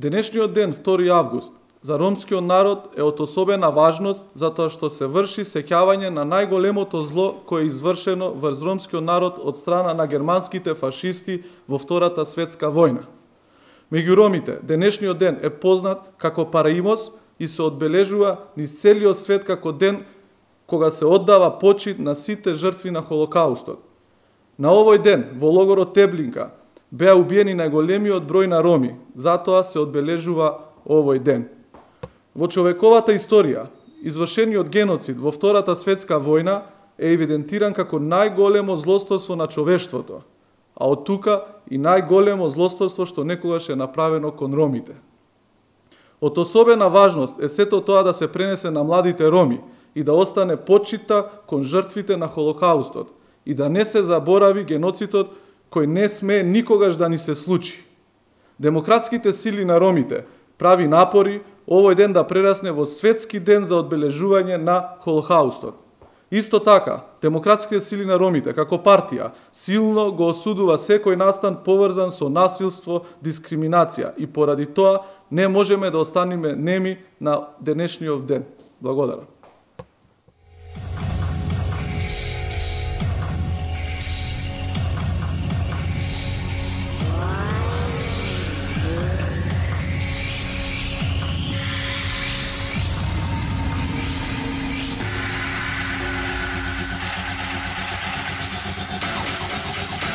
Денешниот ден, 2 август, за ромскиот народ е од особена важност затоа што се врши сеќавање на најголемото зло кое е извршено врз ромскиот народ од страна на германските фашисти во Втората светска војна. Меѓу ромите, денешниот ден е познат како Параимос и се одбележува низ целиот свет како ден кога се оддава почит на сите жртви на Холокаустот. На овој ден, во логорот Теблинка, беа убиени најголемиот број на роми, затоа се одбележува овој ден. Во човековата историја, извршениот геноцид во Втората светска војна е евидентиран како најголемо злосторство на човештвото, а од тука и најголемо злосторство што некогаш е направено кон ромите. Од особена важност е сето тоа да се пренесе на младите роми и да остане почита кон жртвите на Холокаустот и да не се заборави геноцидот кој не смее никогаш да ни се случи. Демократските сили на ромите прави напори овој ден да прерасне во светски ден за одбележување на Холокаустот. Исто така, демократските сили на ромите, како партија, силно го осудува секој настан поврзан со насилство, дискриминација и поради тоа не можеме да останеме неми на денешниот ден. Благодарам.